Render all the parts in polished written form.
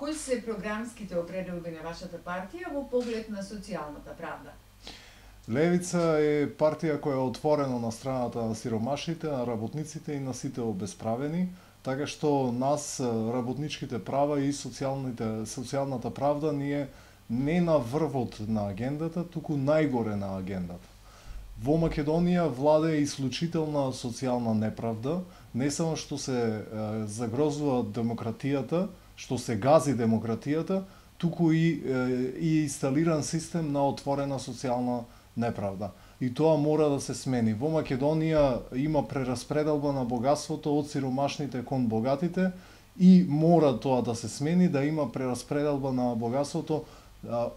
Кои се програмските определби на вашата партија во поглед на социјалната правда? Левица е партија која е отворена на страната на сиромашите, на работниците и на сите обесправени, така што нас работничките права и социјалната правда ние не на врвот на агендата, туку најгоре на агендата. Во Македонија владее исклучителна социјална неправда, не само што се загрозува демократијата, што се гази демократијата, туку и инсталиран систем на отворена социјална неправда. И тоа мора да се смени. Во Македонија има прераспределба на богатството од сиромашните кон богатите и мора тоа да се смени, да има прераспределба на богатството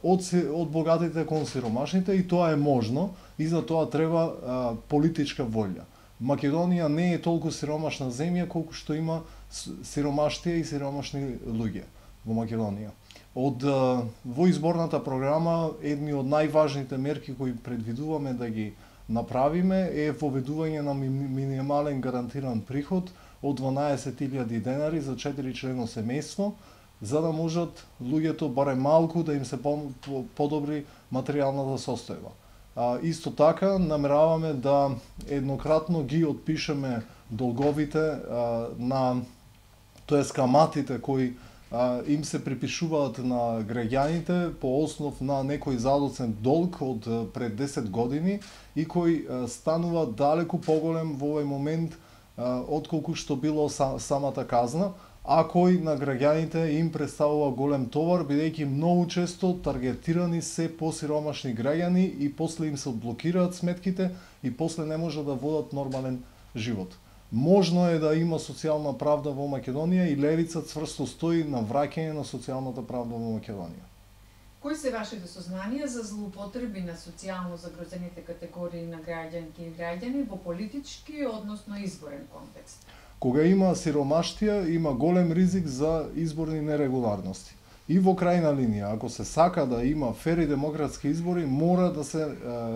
од богатите кон сиромашните и тоа е можно и за тоа треба политичка волја. Македонија не е толку сиромашна земја колку што има сиромаштија и сиромашни луѓе во Македонија. Во изборната програма едни од најважните мерки кои предвидуваме да ги направиме е воведување на минимален гарантиран приход од 12.000 денари за 4-члено семејство, за да можат луѓето барем малку да им се подобри материјалната состојба. Исто така намераваме да еднократно ги отпишеме долговите тоест каматите кои им се припишуваат на граѓаните по основ на некој задоцен долг од пред 10 години и кој станува далеку поголем во овој момент отколку што било самата казна, а кој на граѓаните им представува голем товар, бидејќи многу често таргетирани се посиромашни граѓани и после им се блокираат сметките и после не може да водат нормален живот. Можно е да има социјална правда во Македонија и левица цврсто стои на враќање на социјалната правда во Македонија. Кои се вашите сознанија за злоупотреби на социјално загрозените категории на граѓанки и граѓани во политички, односно изборен контекст? Кога има сиромаштија, има голем ризик за изборни нерегуларности. И во крајна линија, ако се сака да има фери демократски избори, мора да се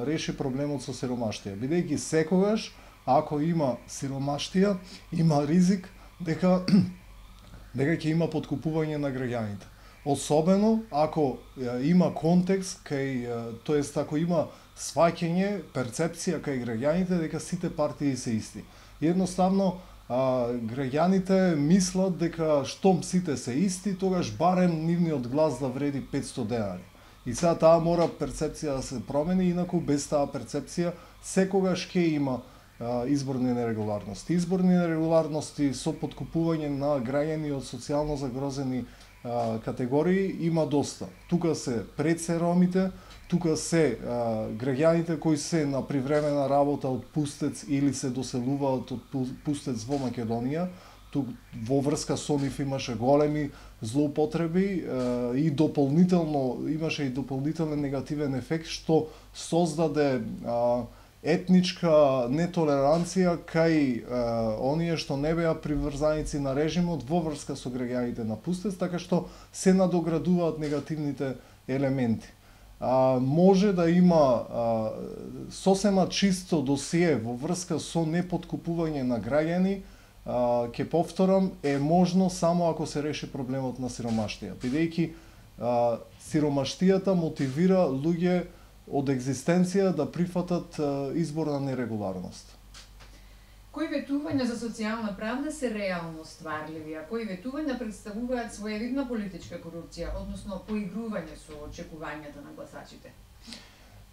реши проблемот со сиромаштија, бидејќи секогаш ако има сиромаштија, има ризик дека ќе има подкупување на граѓаните. Особено ако има контекст тоест ако има сваќање, перцепција кај граѓаните дека сите партии се исти. Едноставно граѓаните мислат дека штом сите се исти, тогаш барем нивниот глас да вреди 500 денари. И сега таа мора перцепција да се промени, инаку без таа перцепција секогаш ќе има изборни нерегуларности. Изборни нерегуларности со подкупување на граѓани од социјално загрозени категории има доста. Тука се пред се ромите, тука се граѓаните кои се на привремена работа од пустец или се доселуваат од пустец во Македонија. Во врска со нив имаше големи злоупотреби и имаше и дополнителен негативен ефект што создаде етничка нетолеранција кај оние што не беа приврзаници на режимот во врска со граѓаните на пустец, така што се надоградуваат негативните елементи. Може да има сосема чисто досие во врска со непоткупување на граѓани, ќе повторам, е можно само ако се реши проблемот на сиромаштија, бидејќи сиромаштијата мотивира луѓе од екзистенција да прифатат изборна нерегуларност. Кои ветувања за социјална правда се реално стварливи, а кои ветувања представуваат своевидна политичка корупција, односно поигрување со очекувањата на гласачите?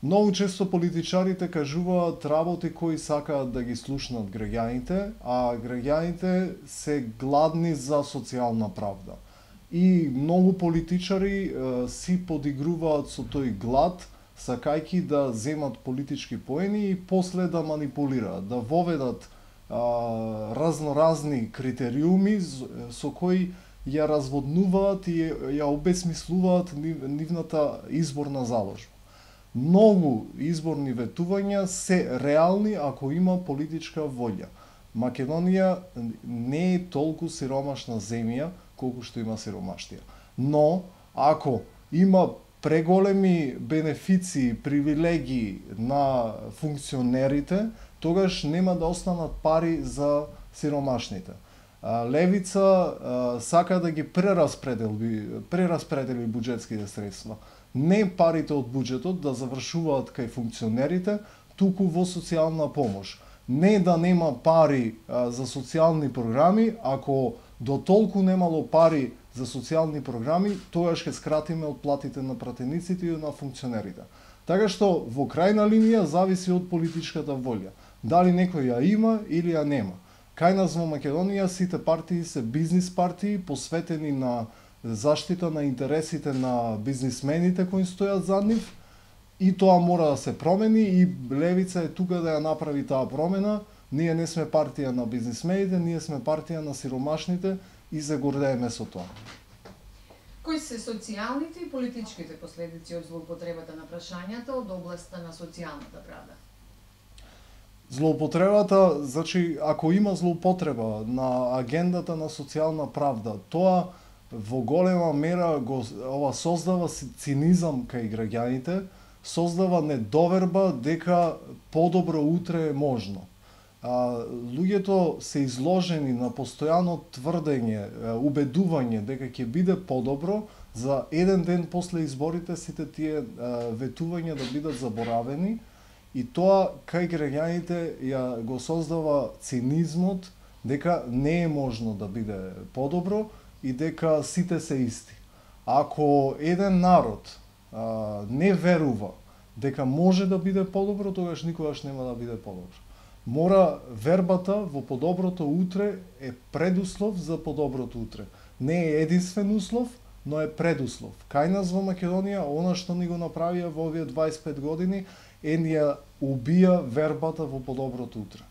Многу често политичарите кажуваат работи кои сакаат да ги слушнат граѓаните, а граѓаните се гладни за социјална правда. И многу политичари си подигруваат со тој глад, сакајки да земат политички поени и после да манипулираат, да воведат разноразни критериуми со кои ја разводнуваат и ја обесмислуваат нивната изборна заложба. Многу изборни ветувања се реални ако има политичка волја. Македонија не е толку сиромашна земја колку што има сиромаштија. Но ако има преголеми бенефиции, привилегии на функционерите, тогаш нема да останат пари за сиромашните. Левица сака да ги прераспредели буџетските средства. Не парите од буџетот да завршуваат кај функционерите, туку во социјална помош. Не да нема пари за социјални програми, ако до толку немало пари за социјални програми, тогаш ќе скратиме од платите на пратениците и на функционерите. Така што во крајна линија зависи од политичката волја. Дали некој ја има или ја нема. Кај нас во Македонија сите партии се бизнис партии, посветени на заштита на интересите на бизнисмените кои стојат зад нив, и тоа мора да се промени и Левица е тука да ја направи таа промена. Ние не сме партија на бизнисмените, ние сме партија на сиромашните и се гордееме со тоа. Кои се социјалните и политичките последици од злоупотребата на прашањата од областа на социјалната правда? Злоупотребата, значи, ако има злоупотреба на агендата на социјална правда, тоа во голема мера ова создава цинизам кај граѓаните, создава недоверба дека подобро утре е можно. Луѓето се изложени на постојано тврдење, убедување дека ќе биде подобро, за еден ден после изборите сите тие ветувања да бидат заборавени, и тоа кај граѓаните ја го создава цинизмот дека не е можно да биде подобро и дека сите се исти. Ако еден народ не верува дека може да биде подобро, тогаш никогаш нема да биде подобро. Мора вербата во подоброто утре е предуслов за подоброто утре. Не е единствен услов, но е предуслов. Кај нас во Македонија, она што ни го направија во овие 25 години, е ни ја убија вербата во подоброто утре.